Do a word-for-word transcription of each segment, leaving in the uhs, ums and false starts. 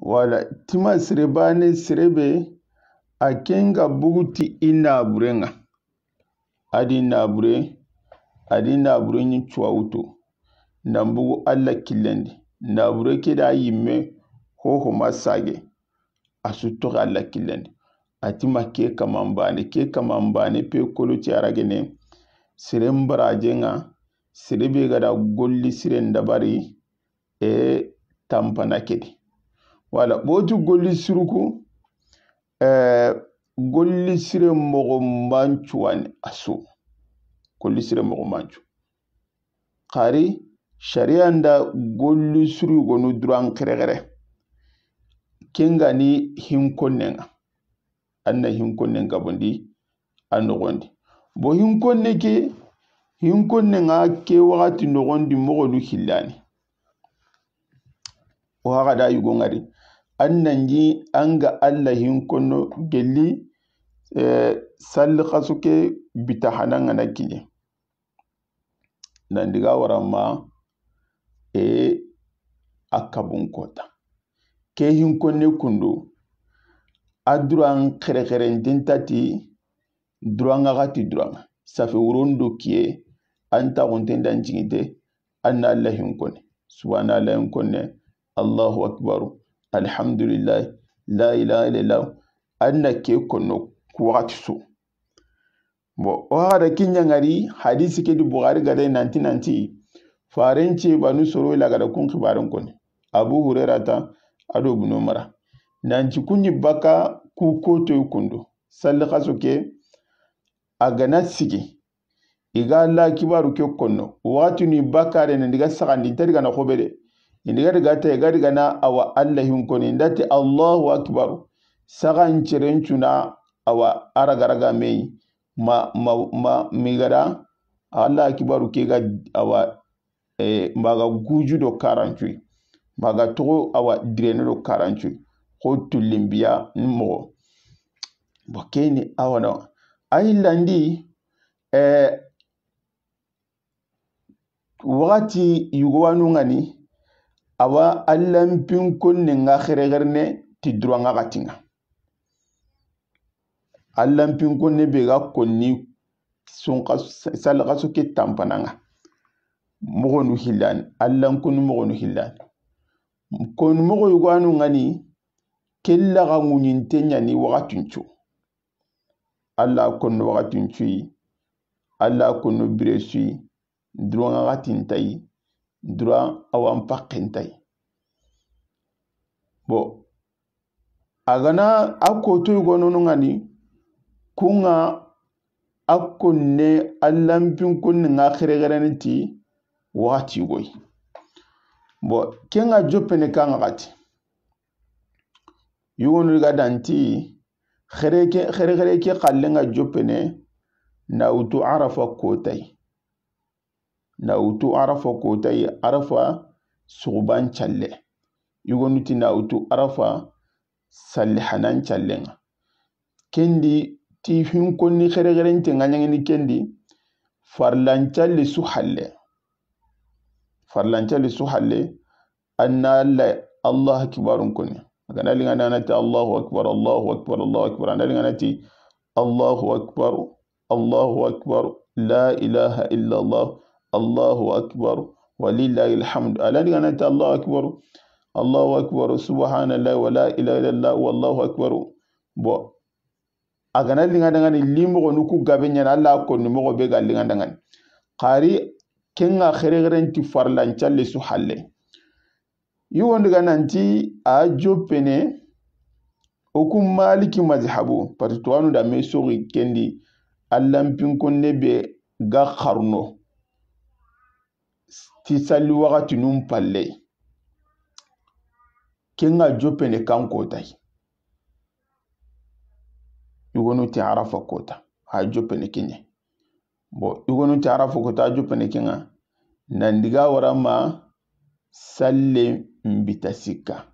Wala, tima sere baane, sere be, a ken ga bugu ti i naaburen ŋa. A di naabure, a di naabure ɲi cuwawutu. Nan bugu Alla killen di. Naabure ke da yimme, hoho ma sage. A su toxo Alla killen di. A ti ma ke kaman baane, ke kaman baane pe kolo ti aragene. Seren barajen ŋa, sere be ga da golli siren dabari, e tanpana ke di. Wala, boti golli siruku, eh, golli sire moxo mancu wani a su. Golli sire moxo mancu. Xari, sariya nda golli siru yogonu duran xerexere. Ken ga ni hinkonnen ŋa. An na hinkonnen gabondi a noxon di. Bo hinkonne ke, hinkonnen ŋa ke waxati noxon di moxonu hillani. O haxa da yugo ŋari. An nan ji an ga Alla hinkonno gelli, eh, salli xaso ke bita hana ŋa na kiɲe. Nan diga wara ma, e, a kabun kota. Ke hinkonne kundu, a duran xerexeren tentati, duran ŋa xati duran ŋa. Safe wuron do kiye, an taxunten dan ciginte, an na Alla hinkonne. Subhanallah hinkonne, Allahu akbaru, alhamdulillah, la ilaha illallah. An na ke konno ku waxati su. Bon, o haxa da kiɲa ŋari, hadisi ke di Buxari ga da nanti, nanti, faren ce banu soro ila ga da kun xibaren koni. Abu Hurairata, a do Ibnu Umara. Nanti kuɲi baka ku kotoy kundu. Salli xaso ke, a ga na sigi. I ga Alla kibaru ke konno. Waxati ni bakare ne diga saxandi, i nta diga na xobe de. I diga diga ta, i ga diga na awa Alla hinkoni, i nda ti Allahu akbaru. Saxan ceren cuna awa a raga raga me yi. Ma, ma, ma, mi ga da Alla kibaru ke ga awa, eh, maga guju do karancuyi. Maga toxo awa direne do karancuyi. Xo tullimbiya ni moxo. Bo keni awa no. A yillandi, eh, waxati yugowanu ŋa ni, awa Allanpinkonne ŋa xerexerene ti duran ŋa xati ŋa. Allanpinkonne be ga konni sunxa, salixaso ke tanpana ŋa. Moxonu hillani, Allan konni moxonu hillani. Konni moxo yugowanu ŋa ni, kella ga ŋuɲinte ɲa ni waxatuncu. Alla konno waxatin cuyi, Alla konno bire suyi, duran ŋa xatin tayi, duran awan pakken tayi. Bon, a ga na a koto yugononu ŋa ni, kun ŋa a konne Allanpinkonne ŋa xerexerene ti waxati yugoyi. Bon, ken ŋa joppene kan ŋa xati. Yugonu ga danti, xere ke, xere, xere ke xallen ŋa joppene, na wutu Arafa kotayi. Na wutu Arafa kotayi, Arafa suxuban calle. Yugonu ti na wutu Arafa sallihanan callen ŋa. Kendi ti hinkonni xerexerente ŋa ɲaŋini kendi, farlan calle su halle. Farlan calle su halle, an na Alla, Allahu akbarun koni. A ga na liŋa na ti Allahu akbar, Allahu akbar, Allahu akbar. An na liŋa na ti Allahu akbar, Allahu akbar, la ilaha illa Allah, Allahu akbar, wa lillahi alhamd. An na liŋa na ti Allahu akbar, Allahu akbar, subhanallah, wa la ilaha illa Allah, wallahu akbar. Bon, a ga na liŋa daŋani, li moxonu ku gabe ɲa ni, Alla konni moxo be ga liŋa daŋani. Xari ken ŋa xerexerenti farlan calle su halle. Yugonu ga nanti a joppene, o ku Maliki mazhabu, parce que tuwanu da me soxi kendi, Allanpinkonne be ga xarno ti salli waxatinun palle. Ken ŋa joppene kan kotayi. Yugonu ti Arafa kota, a joppene ken ɲa. Bon, yugonu ti Arafa kota, a joppene ken ŋa. Nan diga wara ma sallen bita sikka.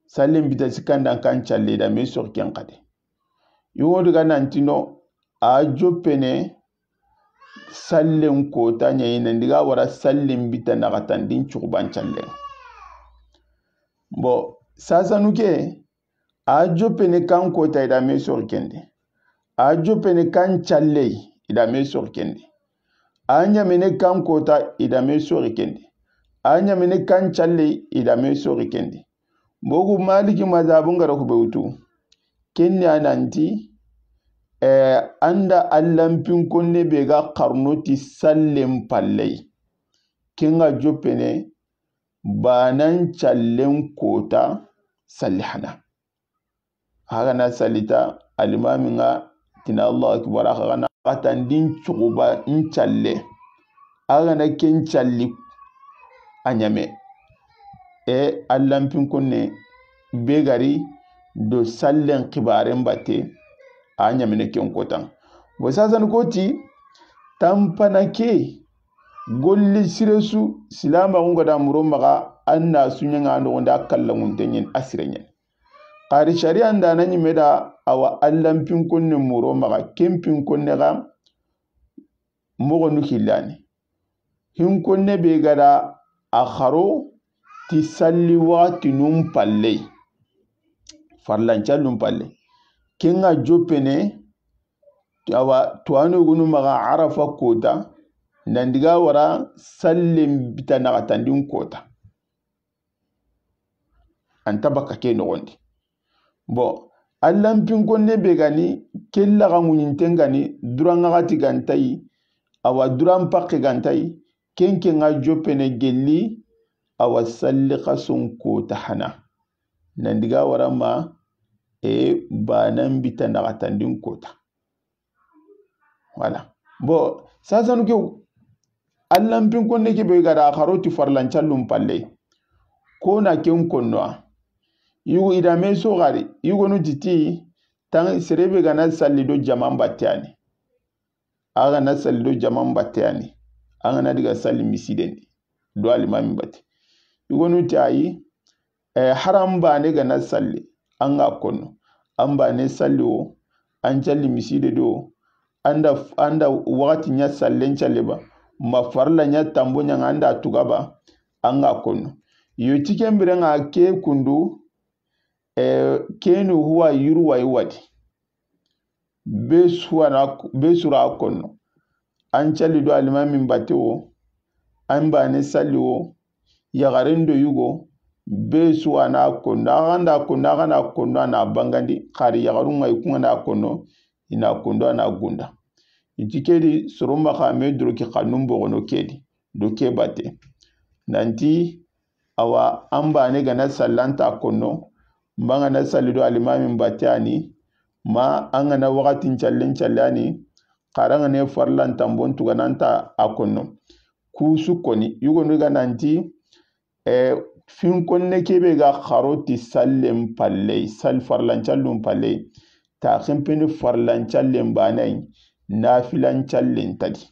Sallen bita sikka ndan kan calle da me soxi ken xade. Yugonu ga nanti no, a joppene sallen kota ɲa yi, nan diga wara sallen bita naxatandin cuxuban callen. Bon, sasanu ke, a joppene kan kota i da me soxi ken di. A joppene kan calle i da me soxi ken di. A ɲamene kan kota i da me soxi ken di. A ɲamene kan calle i da me soxi ken di. Bogu Maliki mazabun ga ra ku be wutu. Ken ni a nanti, eh, an da allanpinkonne be ga xarno ti sallen palle. Ken ga joppene banan callen kota salli hana. A ga na sallita, alimamin ga ti na Allahu akbar, a xa ga na xatandin cuxuba n calle. A ga na ken calli a ɲame. E allanpinkonne be ga ri do sallen xibaren batte, a ɲamene ken kotan. Bo sasanu koti, tanpana ke, golli sire su, silamaxun ga da muro maxa, an na su ɲaŋa noxon da kallanŋunte ɲen a sire ɲen. Xari sariya n da na ɲime da a wa allanpinkonne muro maxa, ken pinkonne ga moxonu hillani. Hinkonne be ga da a xaro ti salli waxatinun palle. Farlancallun palle. Ken ga joppene, a wa tuwano gunu maxa Arafa kota, nan diga wara sallen bita naxatandin kota. An ta bakka ke noxon di. Bon, allanpinkonne be ga ni, ke laxa ŋuɲinten ga ni, duran ŋaxati ga nta yi, a wa duran pakke ga nta yi, ken ken ga joppene gelli, a wa salli xason kota hana. Nan diga wara ma, e banan bita naxatandin kota. Voilà. Bon, sasanu ke, allanpinkonne ke be ga da a xaro ti farlancallun palle. Ko na ken konno a. Yugo i da me soxari, yugonu ti ti, tan sere be ga na salli do jaman batte yani. A ga na salli do jaman batte yani. A ga na diga salli misiden di do alimamin batte. Yugonu ti ayi, Eh, hari an bane ga na salli, an ga konno. An bane salli wo, an calli miside do, an da, an da waxati ɲa sallen calle ba, ma farla ɲa tambo ɲaŋa an da tuga ba, an ga konno. Yo ti ken biren ŋa ke kundu, eh, kenu huwa yurwa iwadi. Be suwana, be sura konno. An calli do alimamin batte wo, an bane salli wo, yaxaren do yugo, be suwana konno. A ga nda konno, a ga na konno, a na bangandi, xari yaxarun ŋa i ku ŋa na konno, i na kondo, a na gunda. I ti ke di, soro maxa me doroki xannun bogono ke di, do ke batte. Nanti, awa, an bane ga na salli an ta konno, ma an ga na salli do alimamin batte yani, ma an ga na waxatin callen calle yani, xari an ga na farlan tambon tugana an ta a konno. Kusu koni, yugonu ga nanti, eh, finkonne ke be ga xaro ti sallen palle, sal farlan callun palle, ta xenpeni farlan callen bane yi, nafilan callen ta di.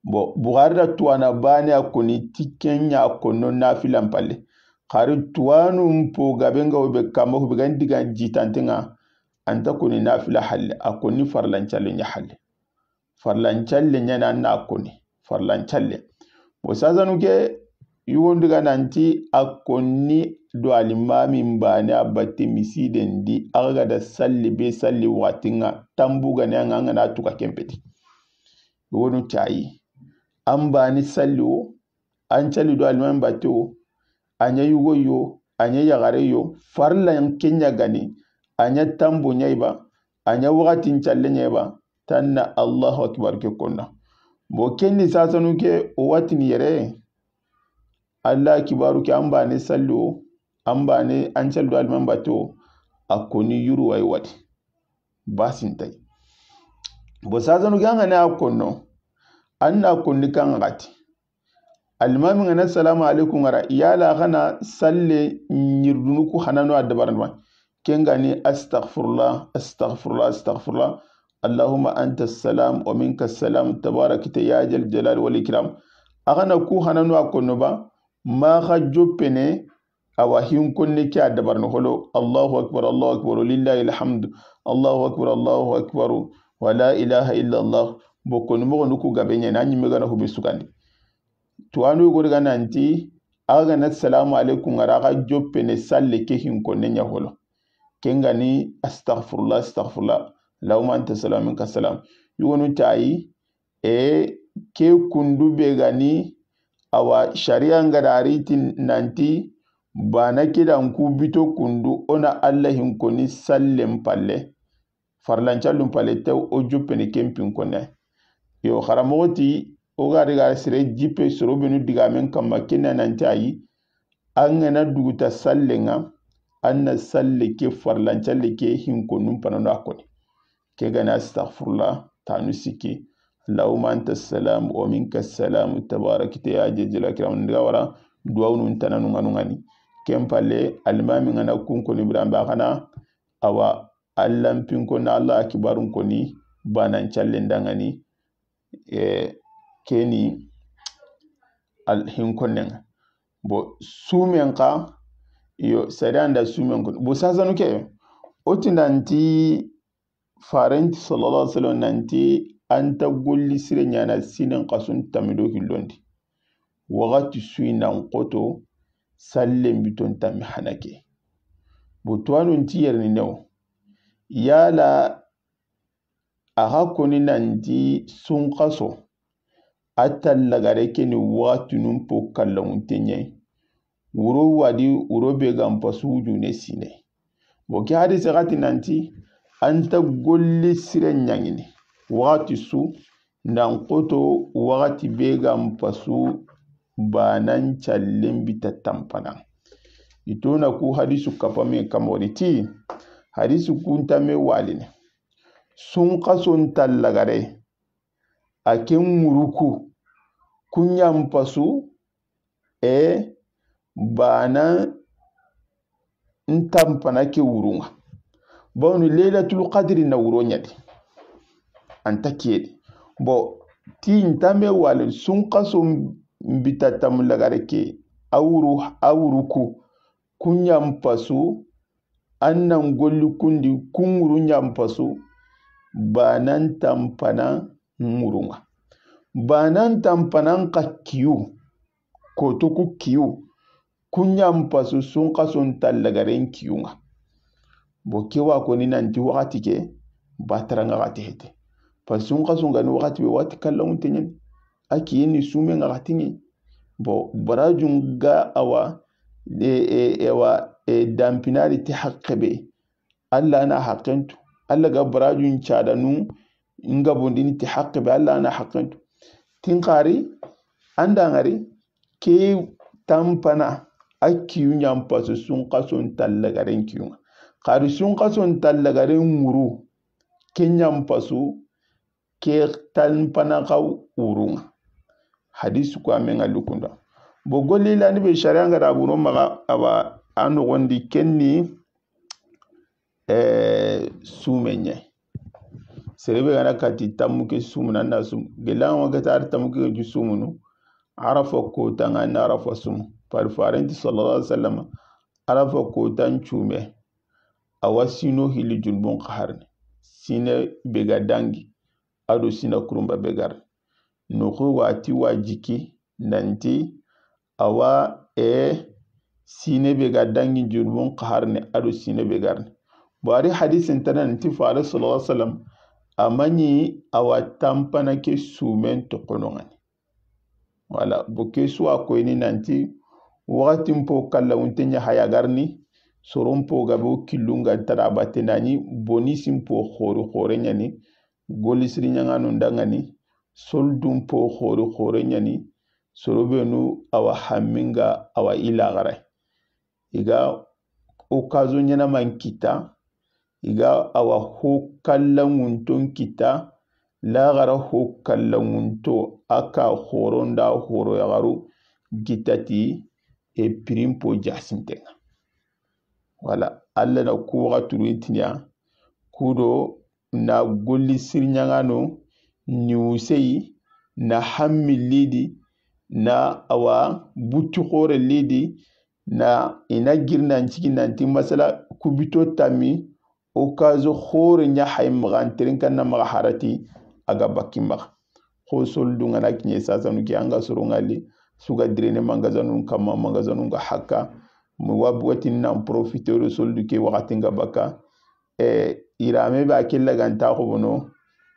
Bon, Buxari da tuwana bane a koni ti ken ɲa konno nafilan palle. Xari tuwanun po gabe ŋa wo be kama hu be ga n diga jitanten ŋa, an ta koni nafila halle, a koni farlan calle ɲa halle. Farlan calle ɲa na, na koni farlan calle. Bon, sasanu ke, yugon diga nanti a koni do alimamin bane a batte misiden di, a ga da salli be salli waxatin ŋa, tambu ga ne an ŋa, an ga na tuga ken peti. Wonu cayi. An bani salli wo, an calli do alimamin batte wo, a ɲa yugo yo, a ɲa yaxare yo, farlan ke ɲa gani, a ɲa tambo ɲa i ba, a ɲa waxatin calle ɲa i ba, tanna Allahu akbar ke konna. Bo kenni sasanu ke o watini yere, Allah kibaru ke an bani salli wo, an bani an calli do alimamin batte wo, a koni yuru wa i wadi. Basin tay. Bo sasanu ke an ga na a konno, an na konni kan ŋa xati. Alimamin ga na salamu alaikum ŋa ra, yala xa na salle ɲirdunu ku hanano a dabaran ma. Ken ga ni astaghfirullah, astaghfirullah, astaghfirullah. Allahumma anta salam wa minka salam, tabarakta ya jal jalal wal ikram. A xa na ku hanano a konno ba, ma xa joppene, awa hinkonne ke a dabarni holo, Allahu akbar, Allahu akbar, lillahi alhamdu, Allahu akbar, Allahu akbar, wa la ilaha illa Allah. Bo koni moxonu ku gabe ɲa na, a ɲimme ga na hu be sugandi. Tuwanu yogo daga nanti, A ga na salamu alaikum ŋa ra, a ga joppene salle ke hinkonne ɲa holo. Ken ga ni astaghfirullah, astaghfirullah. Allahumma anta salam, minka salam. Yogonu tayi, e, ke kundu be ga ni, awa, sharia ŋa da a ri ti nanti, bana ke da n ku bito kundu, o na Alla hinkoni sallen palle. Farlancallun palle te o joppene ken pinkonne. Yo, xaramoxo ti, o ga daga sere jippe soro benu digamen kamma, ken na nanti ayi, an ga na duguta sallen ŋa, an na salle ke farlancalle ke hinkonun panano a koni. Ke ga na astaghfirullah, tanu sikki. Allahumma anta salam wa minka salam, tabarakta ya zal jalali wal ikram. N daga wara, duwawunun tananu ŋa nu ŋa ni. Ken palle, alimami ga na kun koni biranbe a xa na, awa, Allan pinko na Alla akibarun koni, banan callen da ŋa ni, e, keni al hinkonnen ŋa. Bo sumen xa, yo, sariya nda sumen ko. Bo sasanu ke, o ti nanti farenti sallallahu alaihi wasallam nanti an ta golli sire ɲaana sinen xasun tamido hillondi. Waxati suyi nan xoto sallen biton tami hanake. Bo tuwanun ti yerini new. Yala a xa koni nanti sunxaso, a tallagare ke ni waxatinun po kallamunte ɲa yi. Wuro wadi, wuro be ga n pasu wujune sine. Bo ke hadise xa ti nanti, an ta golli sire ɲaŋini. Waxati su, nan xoto waxati be ga n pasu banan callen bita tanpana. I to na ku hadisu kapame kamori ti, hadisu kuntame waline. Sunxason tallagare, a ke ŋuruku, ku ɲa n pasu, e, bana n tanpana ke wurun ŋa. Bawni Laylatul Qadri na wuro ɲa di. An ta kiyedi. Bo, ti n tame wale, sunxaso n bita tamu lagare ke, a wuru, a wuruku, ku ɲa n pasu, an nan golli kundi, ku ŋuru ɲa n pasu, banan tanpana ŋurun ŋa. Banan tanpanan xa kiyu, koto ku kiyu, ku ɲa n pasu sunxason tallagaren kiyun ŋa. Bo ke wa koni nanti waxati ke, batara ŋa xa te hete. Pasu sunxason ga ni waxati be, waxati kallamunte ɲa ni. A kiyen ni sumen ŋa xa ti ŋe. Bo barajun ga awa, e, e, e wa, e, danpinari ti haqqe be. Alla na haqqentu. Alla ga barajun cadanu nga bondini ti haqqe be, Alla na haqqentu. Tin xari, an da ŋari, ke tanpana, a kiyu ɲa n pasu sunxason tallagaren kiyun ŋa. Xari sunxason tallagaren ŋuru, ke ɲa n pasu, ke tanpana xa wurun ŋa. Hadisu ko a me ŋa lukunda. Bo golli lani be sharia ŋa da buno maxa, awa, a noxondi ken ni, e, sumen ɲa yi. Sere be ga na kati tammu ke sumunu, an na sumu. Gella ŋa ga ta tammu ke ju sumunu. Arafa kota ŋa na Arafa sumu. Pari farenti sallallahu alaihi wasallam, Arafa kotan cume, a wa sino hilli junubun xaharni. Sine be ga dangi, a do sina kurumba be garni. Noxo wati wa jiki nanti, a wa, e, sine be ga dangi junubun xaharni, a do sine be garni. Bo a ri hadisin tana nanti fare sallallahu alaihi wasallam, a ma ɲi a wa tanpana ke sumen toxono ŋa ni. Wala, bo ke su wa koyini nanti, waxatin po kallamunte ɲa haya garni, soron po gabe o killun ga tara batte na ɲi, boni sin po xori xore ɲa ni, golli siri ɲaŋanu nda ŋa ni, soldun po xori xore ɲa ni, soro benu a wa hamminga a wa i laxara. I ga occasion ɲanaman kita, i ga a wa ho kallanŋunton kita, laxara ho kallanŋunto, a ka xoronda xoro yaxaru gitati, e pirimpo jasinten ŋa. Wala, Alla na ku waxaturu intiniya, kudo na golli siri ɲaŋano, ni wuseyi, na hammi lidi, na awa butti xore lidi, na i na girnan cigi nanti masala kubito tammi, o kaso xore ɲa hay maxa, an terinkanna maxa harati, a ga bakki maxa. Xo soldu ŋa na kiɲe sasanu ke, an ga soro ŋa li, su ga direne magasinun kamma, magasinun ga hakka. Mo wa bugatin nan profiter do soldu ke waxatin ga baka. E, yiraame be a ke laganta xobono,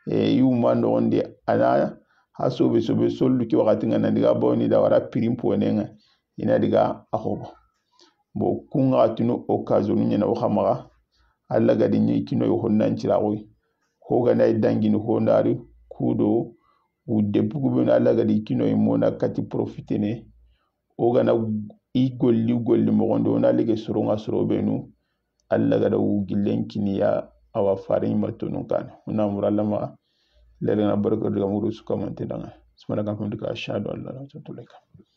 e, i wuma noxondi, a na ha sobe sobe soldu ke waxatin ga na diga bawni da wara prix n ponenga, i na diga a xobo. Bon, kun ga tunu occasion ɲana o xa maxa, Alla ga di ɲi kinoy honnan ciraxoy. Ho ga na i dangini ho ndari kudo, u debbu ku benu Alla ga di kinoy mona kati profitene. O ga na i golli golli moxondi, o na lige soronga soro benu, Alla ga da u gillen kiniya, awa fare i ma tonun kane. O na mura Alla maxa, lele na barka daga muru su kamante danga. Subhanaka Allahumma wa bihamdika, ashhadu an la ilaha illa anta, astaghfiruka wa atubu ilaik.